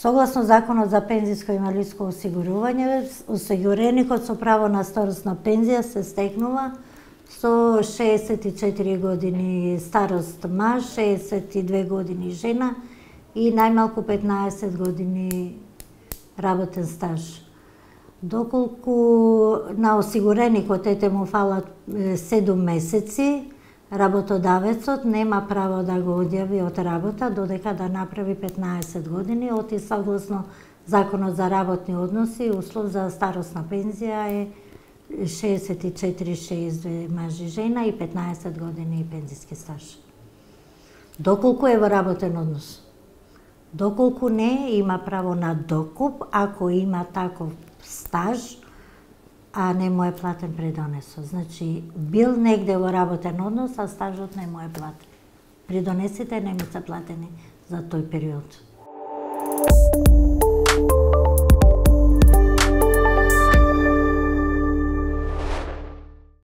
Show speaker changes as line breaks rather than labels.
Согласно Законот за пензиско и инвалидско осигурување, осигуреникот со право на старосна пензија се стекнува со 64 години старост маж, 62 години жена и најмалку 15 години работен стаж. Доколку на осигуреникот му фалат 7 месеци, работодавецот нема право да го одјави од работа додека да направи 15 години, оти согласно Законот за работни односи, услов за старосна пензија е 64-62 маж и жена и 15 години пензиски стаж. Доколку е во работен однос. Доколку не, има право на докуп ако има таков стаж, а не му е платен придонесот. Значи, бил негде во работен однос, а стажот не му е платен. Придонесите не му се платени за тој период.